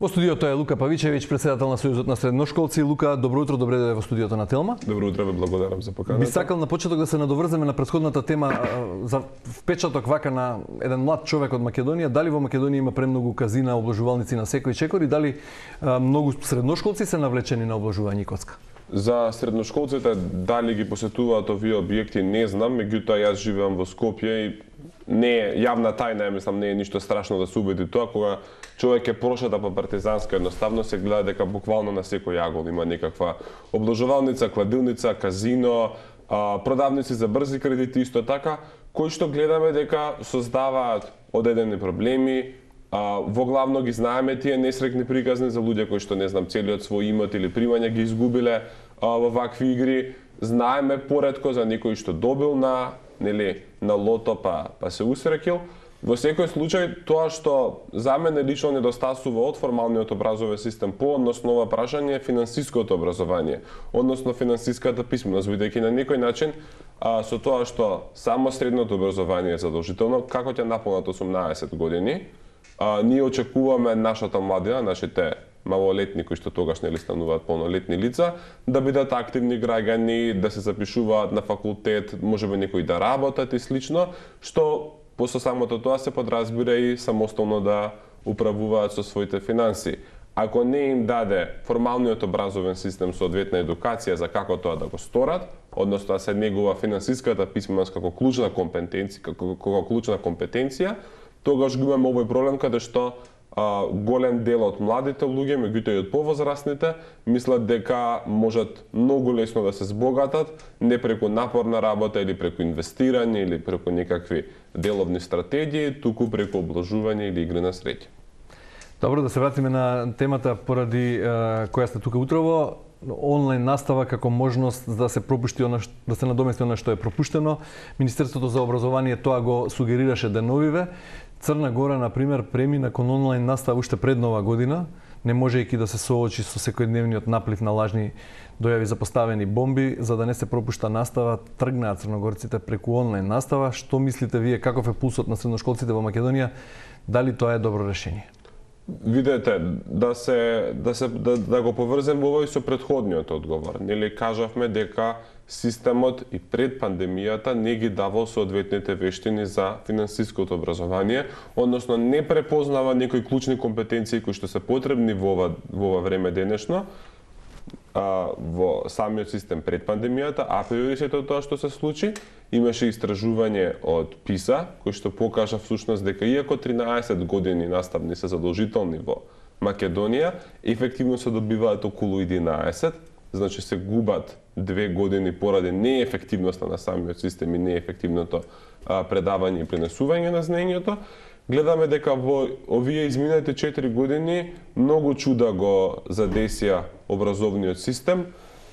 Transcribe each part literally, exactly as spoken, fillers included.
Во студиото е Лука Павичевиќ, председател на Сојузот на средношколци. Лука, добро утро, добре дојде во студиото на Телма. Добро утро, ве благодарам за поканата. Би сакал на почеток да се надоврземе на претходната тема за впечаток вака на еден млад човек од Македонија. Дали во Македонија има премногу казина, обложувалници на секој чекор и дали многу средношколци се навлечени на обложување и коцка? За средношколците дали ги посетуваат овие објекти не знам, меѓутоа јас живеам во Скопје и не е јавна тајна, мислам, не е ништо страшно да се убеди тоа, кога човек е прошета по партизанска, едноставно се гледа дека буквално на секој јагол има некаква обложувалница, кладилница, казино, продавници за брзи кредити исто така, кои што гледаме дека создаваат одедени проблеми. Во главно ги знаеме тие несрекни приказни за луѓе кои што не знам целиот свој имот или примања ги изгубиле во вакви игри. Знаеме поретко за некој што добил на нели на лото па па се усрекил. Во секој случај тоа што за мене лично недостасува од формалниот образовен систем по односно ова прашање е финансиското образование, односно финансиската писменост, бидејќи на некој начин а, со тоа што само средното образование е задолжително, како ќе наполнат осумнаесет години, а, ние очекуваме нашата младина, нашите малолетни кои што тогаш нели стануваат полнолетни лица, да бидат активни граѓани, да се запишуваат на факултет, можеби некои да работат и слично, што после самото тоа се подразбира и самостојно да управуваат со своите финанси. Ако не им даде формалниот образовен систем соодветна едукација за како тоа да го сторат, односно да се негува финансиската писменост како клучна компетенција, како, како клучна компетенција, тогаш го имаме овој проблем каде што а, голем дел од младите луѓе, меѓутоа и од повозрастните, мислат дека можат многу лесно да се збогатат, не преку напорна работа или преку инвестирање или преку некакви деловни стратегии, туку преку обложување или игри на среќа. Добро, да се вратиме на темата поради uh, која сте тука утрово. Онлайн настава како можност да се пропушти она, да се надомести она што е пропуштено. Министерството за образование тоа го сугерираше деновиве. Црна Гора, например, премина кон онлайн настава уште пред Нова година, не можејќи да се соочи со секојдневниот наплив на лажни дојави за поставени бомби, за да не се пропушта настава, тргнаа црногорците преку онлайн настава. Што мислите вие, каков е пулсот на средношколците во Македонија? Дали тоа е добро решение? Видете, да се да се да, да го поврзем овој со претходниот одговор. Нели кажавме дека системот и пред пандемијата не ги давал соодветните вештини за финансиското образование, односно не препознава некои клучни компетенции кои што се потребни во ова во ова време денешно. А, во самиот систем пред пандемијата, априори сето тоа што се случи, имаше истражување од ПИСА, кој што покажа всушност дека иако тринаесет години наставни се задолжителни во Македонија, ефективно се добиваат околу единаесет, значи се губат две години поради неефективноста на самиот систем и неефективното а, предавање и пренесување на знаењето. Гледаме дека во овие изминатите четири години многу чуда го задесија образовниот систем,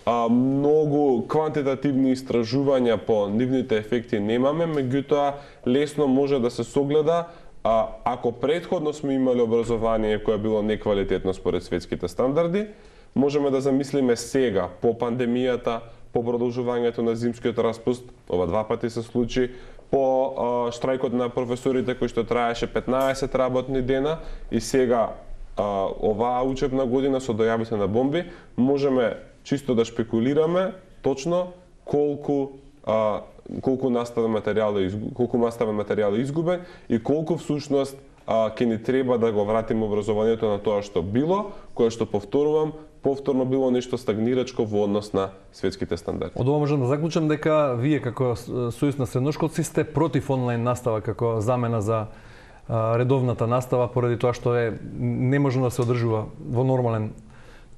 а многу квантитативни истражувања по нивните ефекти немаме, меѓутоа лесно може да се согледа а, ако претходно сме имали образование кое било неквалитетно според светските стандарди, можеме да замислиме сега по пандемијата, по продолжувањето на зимскиот распуст, ова два пати се случи, по а, штрајкот на професорите кој што траеше петнаесет работни дена и сега а, оваа учебна година со дојавите на бомби, можеме чисто да шпекулираме точно колку а, колку наставен материјал е колку наставен материјал е изгубен и колку всушност а, ќе ни треба да го вратиме образованието на тоа што било, кое што повторувам, повторно било нешто стагнирачко во однос на светските стандарди. Од ова можам да заклучам дека вие како Сојуз на средношколци сте против онлайн настава како замена за редовната настава поради тоа што е неможно да се одржува во нормален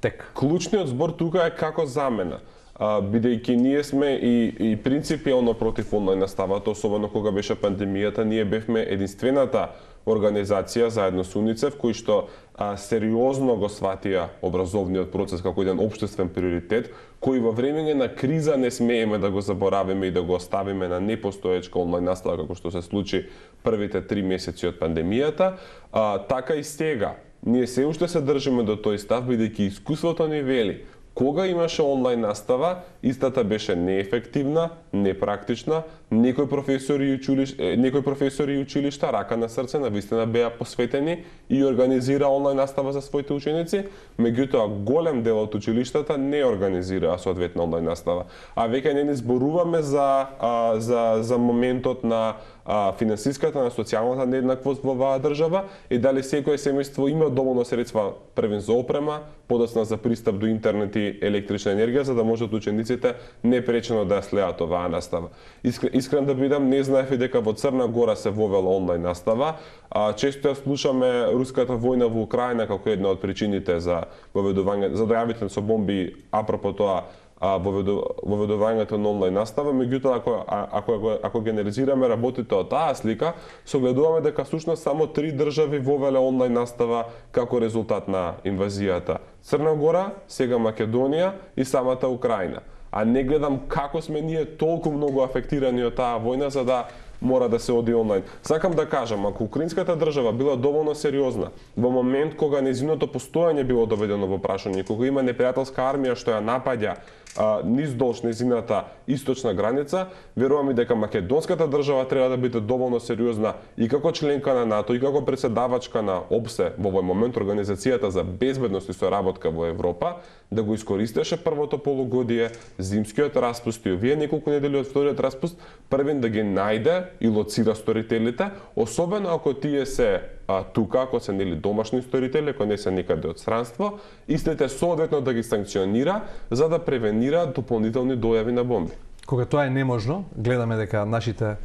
тек. Клучниот збор тука е како замена. Бидејќи ние сме и, и принципијално против онлайн наставата, особено кога беше пандемијата, ние бевме единствената организација заедно со УНИЦЕФ кои што а, сериозно го сватија образовниот процес како еден општествен приоритет, кој во времење на криза не смееме да го заборавиме и да го оставиме на непостоечка онлайн настава како што се случи првите три месеци од пандемијата. А, така и сега, ние се уште се држиме до тој став, бидејќи искуството ни вели кога имаше онлайн настава, истата беше неефективна, непрактична, некои професори и училишта, некои професори и училишта рака на срце навистина беа посветени и организира онлайн настава за своите ученици, меѓутоа голем дел од училиштата не организира соодветна онлайн настава. А веќе не ни зборуваме за а, за за моментот на а, финансиската, на социјалната нееднаквост во оваа држава и дали секое семејство има доволно средства првен за опрема, подоцна за пристап до интернет и електрична енергија, за да можат учениците непречено да следат оваа настава. Искрен, искрен да бидам, не знаев и дека во Црна Гора се вовела онлайн настава. А, често ја слушаме руската војна во Украина како една од причините за воведување, за дојавите со бомби, апропо тоа, воведувањето на онлайн настава, меѓутоа ако ако ако, ако генерализираме работите од таа слика, согледуваме дека всушност само три држави вовеле онлайн настава како резултат на инвазијата. Црна Гора, сега Македонија и самата Украина. А не гледам како сме ние толку многу афектирани од таа војна за да мора да се оди онлайн. Сакам да кажам, ако украинската држава била доволно сериозна, во момент кога нејзиното постојање било доведено во прашање, кога има непријателска армија што ја напаѓа а, низ долж нејзината источна граница, верувам и дека македонската држава треба да биде доволно сериозна и како членка на НАТО и како председавачка на ОБСЕ во овој момент, Организацијата за безбедност и соработка во Европа, да го искористеше првото полугодие, зимскиот распуст и овие неколку недели од вториот распуст, првен да ги најде и лоцира сторителите, особено ако тие се а, тука, ако се нели домашни сторители, ако не се некаде од странство, истите соодветно да ги санкционира за да превенира дополнителни дојави на бомби. Кога тоа е неможно, гледаме дека нашите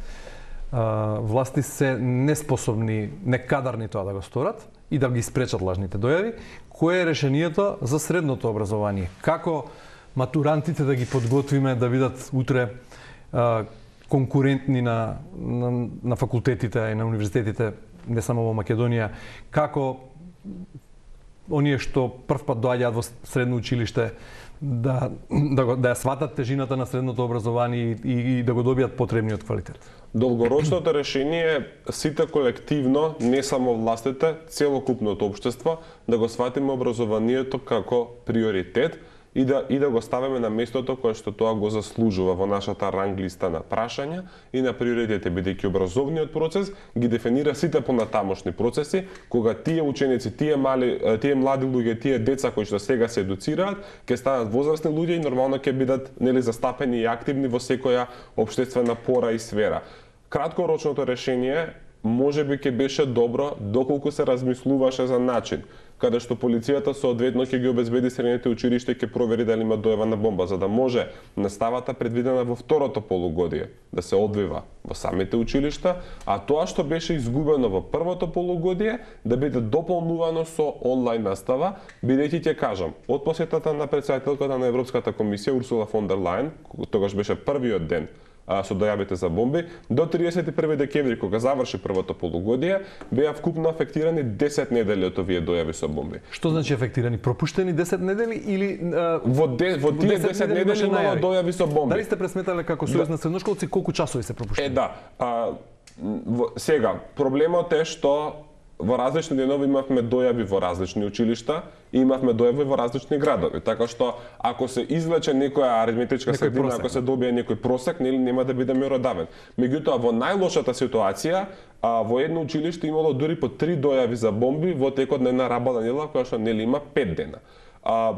а, власти се неспособни, некадарни тоа да го сторат и да ги спречат лажните дојави. Кое е решението за средното образование? Како матурантите да ги подготвиме да бидат утре а, конкурентни на, на, на факултетите и на универзитетите, не само во Македонија, како оние што првпат доаѓаат во средно училиште да, да, да ја сватат тежината на средното образование и, и да го добијат потребниот квалитет? Долгорочното решение е сите колективно, не само властите, целокупното општество, да го сватиме образованието како приоритет и да и да го ставиме на местото кое што тоа го заслужува во нашата ранг листа на прашања и на приоритети, бидејќи образовниот процес ги дефинира сите понатамошни процеси, кога тие ученици, тие мали, тие млади луѓе, тие деца кои што сега се едуцираат, ќе станат возрастни луѓе и нормално ќе бидат нели застапени и активни во секоја општествена пора и сфера. Краткорочното решение можеби ќе беше добро доколку се размислуваше за начин каде што полицијата соодветно ќе ги обезбеди средните училишта и ќе провери дали има дојава на бомба, за да може наставата предвидена во второто полугодие да се одвива во самите училишта, а тоа што беше изгубено во првото полугодие да биде дополнувано со онлайн настава, бидејќи ќе кажам, од посетата на претседателката на Европската комисија Урсула фон дер Лајен, тогаш беше првиот ден со дојавите за бомби, до триесет и први декември, кога заврши првото полугодие, беа вкупно афектирани десет недели од овие дојави со бомби. Што значи афектирани? Пропуштени десет недели или а, во, де, во тие десет недели имало дојави со бомби? Дали сте пресметале како сојуз на средношколци колку часови се пропуштени? Е да, а, во, сега проблемот е што во различни денови имавме дојави во различни училишта и имавме дојави во различни градови. Така што ако се извлече некоја аритметичка средина, ако се добие некој просек, нели нема да биде меродавен. Меѓутоа во најлошата ситуација, а, во едно училиште имало дури по три дојави за бомби во текот на една работна недела која што нели има пет дена. А,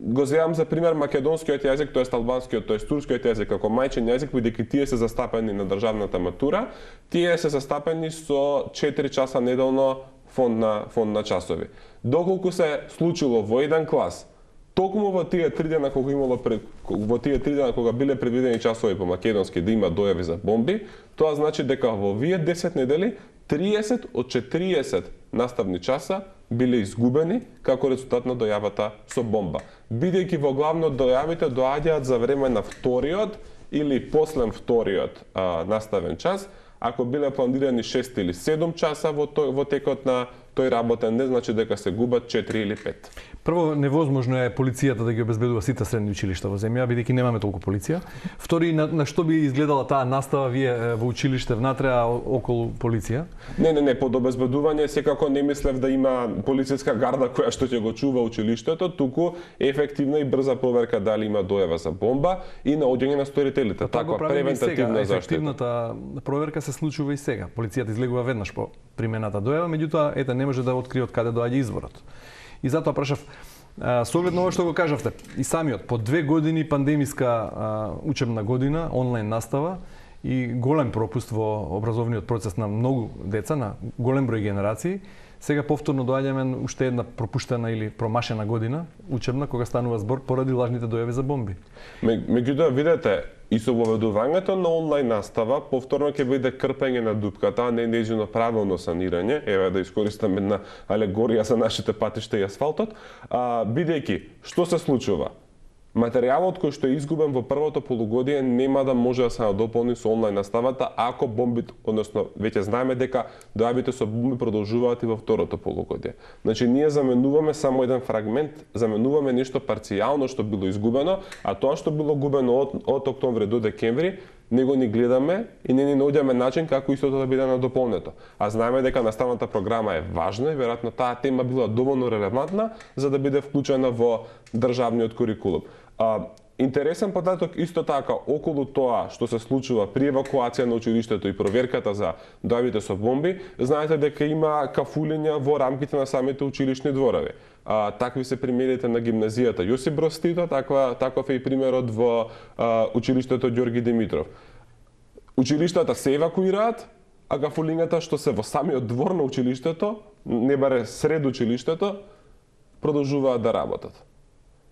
го земам за пример македонскиот јазик, тоест албанскиот, тоест турскиот јазик како мајчин јазик, бидејќи тие се застапени на државната матура, тие се застапени со четири часа неделно фонд на фонд на часови. Доколку се случило во еден клас, токму во тие три дена кога имало пред, во тие три дена кога биле предвидени часови по македонски да има дојави за бомби, тоа значи дека во овие десет недели триесет од четириесет наставни часа биле изгубени како резултат на дојавата со бомба. Бидејќи во главно дојавите доаѓаат за време на вториот или после вториот а, наставен час, ако биле планирани шест или седум часа во, тој, во текот на тој работен ден значи дека се губат четири или пет. Прво, невозможно е полицијата да ги обезбедува сите средни училишта во земја, бидејќи немаме толку полиција. Втори, на, на што би изгледала таа настава вие во училиште внатре, а околу полиција? Не, не, не, под обезбедување секако не мислев да има полициска гарда која што ќе го чува училиштето, туку ефективна и брза проверка дали има дојава за бомба и наоѓање на сторителите. Таква превентативна заштита. Ефективната проверка се случува и сега. Полицијата излегува веднаш по примената дојава, меѓутоа ете не може да открие од каде доаѓа изворот. И затоа прашав, со оглед на ова што го кажавте, и самиот, по две години пандемиска а, учебна година, онлайн настава и голем пропуст во образовниот процес на многу деца, на голем број генерации, сега повторно доаѓаме уште една пропуштена или промашена година учебна, кога станува збор поради лажните дојави за бомби. Меѓутоа, видете, и со воведувањето на онлайн настава, повторно ќе биде крпење на дупката, а не нејзино правилно санирање, еве да искористам една алегорија за нашите патишта и асфалтот, а, бидејќи, што се случува? Материјалот кој што е изгубен во првото полугодие нема да може да се надополни со онлайн наставата ако бомбите, односно веќе знаеме дека дојавите со бомби продолжуваат и во второто полугодие. Значи ние заменуваме само еден фрагмент, заменуваме нешто парцијално што било изгубено, а тоа што било губено од, од октомври до декември него ни гледаме и не ни наоѓаме начин како истото да биде надополнето. А знаеме дека наставната програма е важна и веројатно таа тема била доволно релевантна за да биде вклучена во државниот курикулум. А, интересен податок исто така околу тоа што се случува при евакуација на училиштето и проверката за дојавите со бомби, знаете дека има кафулења во рамките на самите училишни дворови. А, такви се примерите на гимназијата Јосип Броз Тито, таква таков е и примерот во а, училиштето Ѓорги Димитров. Училиштата се евакуираат, а кафулењата што се во самиот двор на училиштето, не баре сред училиштето, продолжуваат да работат.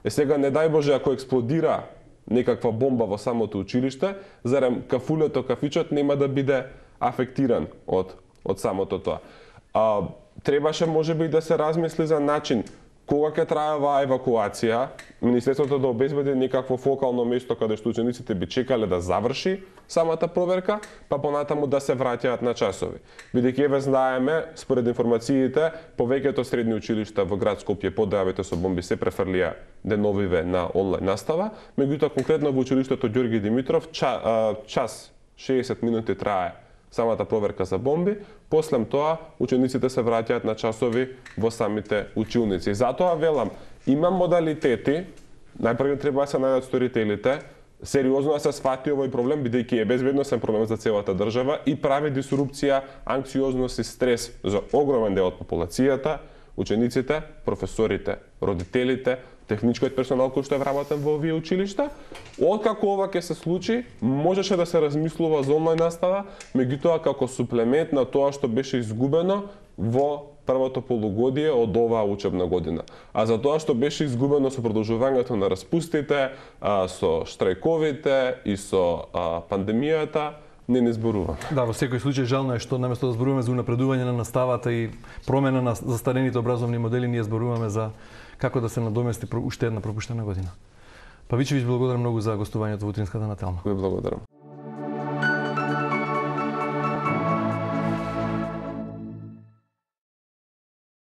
Е сега, не дај Боже, ако експлодира некаква бомба во самото училиште, зарем кафулето, кафичот нема да биде афектиран од, од самото тоа. А, требаше можеби да се размисли за начин кога ќе трае оваа евакуација, Министерството да обезбеди некакво фокално место каде што учениците би чекале да заврши самата проверка, па понатаму да се враќаат на часови. Бидејќи еве знаеме, според информациите, повеќето средни училишта во град Скопје по дојавите со бомби се префрлија деновиве на онлайн настава, меѓутоа конкретно во училиштето Ѓорги Димитров час шеесет минути трае самата проверка за бомби, после тоа учениците се враќаат на часови во самите училници. Затоа велам, има модалитети, најпрво треба да се најдат сторителите, сериозно да се сфати овој проблем, бидејќи е безбедносен проблем за целата држава и прави дисрупција, анксиозност и стрес за огромен дел од популацијата, учениците, професорите, родителите, техничкиот персонал кој што е вработен во овие училишта. Откако ова ќе се случи, можеше да се размислува за онлайн настава, меѓутоа како суплемент на тоа што беше изгубено во првото полугодие од оваа учебна година. А за тоа што беше изгубено со продолжувањето на распустите, со штрајковите и со пандемијата, не не зборуваме. Да, во секој случај жално е што наместо да зборуваме за унапредување на наставата и промена на застарените образовни модели, ние зборуваме за како да се надомести уште една пропуштена година. Павичевиќ, благодарам многу за гостувањето во утринската на Телма. Ви благодарам.